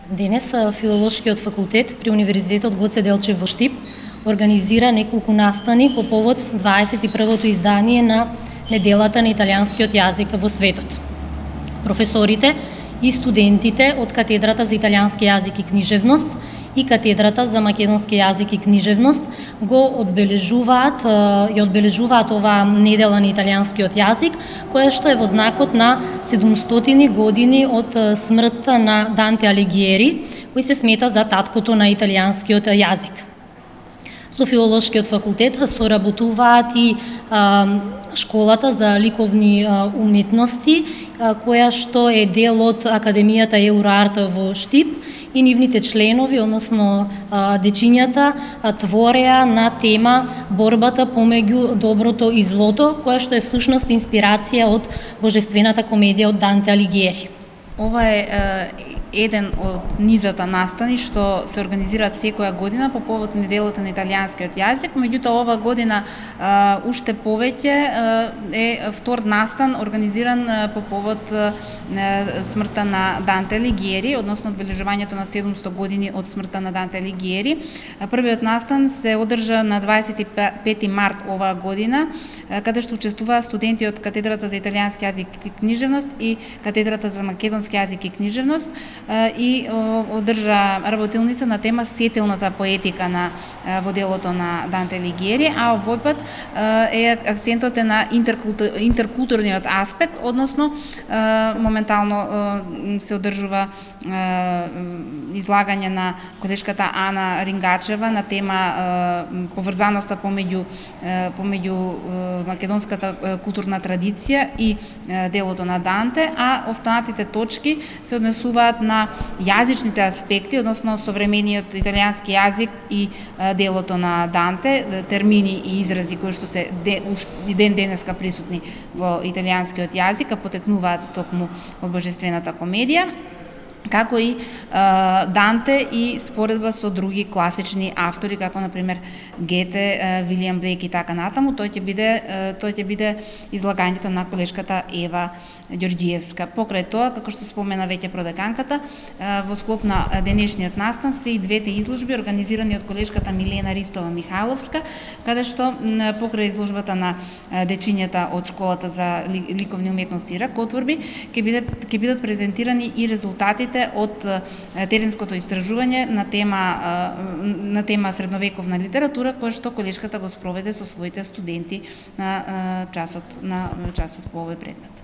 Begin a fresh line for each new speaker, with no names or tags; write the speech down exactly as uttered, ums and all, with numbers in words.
Денес Филолошкиот факултет при Универзитетот Гоце Делчев во Штип организира неколку настани по повод дваесет и првото издание на Неделата на италијанскиот јазик во светот. Професорите и студентите од Катедрата за италијански јазик и книжевност и Катедрата за македонски јазик и книжевност го одбележуваат ја одбележуваат оваа недела на италијанскиот јазик, која што е во знакот на седумстотини години од смртта на Данте Алигиери, кој се смета за таткото на италијанскиот јазик. Со Филолошкиот факултет соработуваат и а, школата за ликовни а, уметности, а, која што е дел од Академијата Еуроарт во Штип, и нивните членови, односно а, дечињата, а, твореа на тема борбата помеѓу доброто и злото, која што е всушност инспирација од божествената комедија од Данте Алигиери.
Ова е, е еден од низата настани што се организираат секоја година по повод Неделата на италијанскиот јазик, меѓутоа ова година а, уште повеќе а, е втор настан организиран а, по повод а, смртта на Данте Алигиери, односно одбележувањето на седумсто години од смртта на Данте Алигиери. Првиот настан се одржа на дваесет и пети март оваа година, каде што учествуваа студенти од Катедрата за италијански јазик и книжевност и Катедрата за македонски јазик и книжевност и одржа работилница на тема сетилната поетика на во делото на Данте Алигиери, а овој пат е акцентот е на интеркултур, интеркултурниот аспект, односно моментално се одржува излагање на колешката Ана Рингачева на тема поврзаноста помеѓу помеѓу македонската културна традиција и делото на Данте, а останатите точки се однесуваат на јазичните аспекти, односно современиот италијански јазик и делото на Данте, термини и изрази кои што се и ден денеска присутни во италијанскиот јазик, а потекнуваат токму од божествената комедија, како и а, Данте и споредба со други класични автори, како на пример Гете, Вилијам Блејк и така натаму. Тој ќе биде тој ќе биде излагањето на колешката Ева Ѓорѓиевска. Покрај тоа, како што спомена веќе продеканката, во склоп на денешниот настан се и двете изложби организирани од колешката Милена Ристова Михайловска, каде што покрај изложбата на дечињата од школата за ликовни уметности и ракотворби ќе бидат ќе бидат презентирани и резултатите од теренското истражување на тема на тема средновековна литература, која што колешката го спроведе со своите студенти на часот на часот по овој предмет.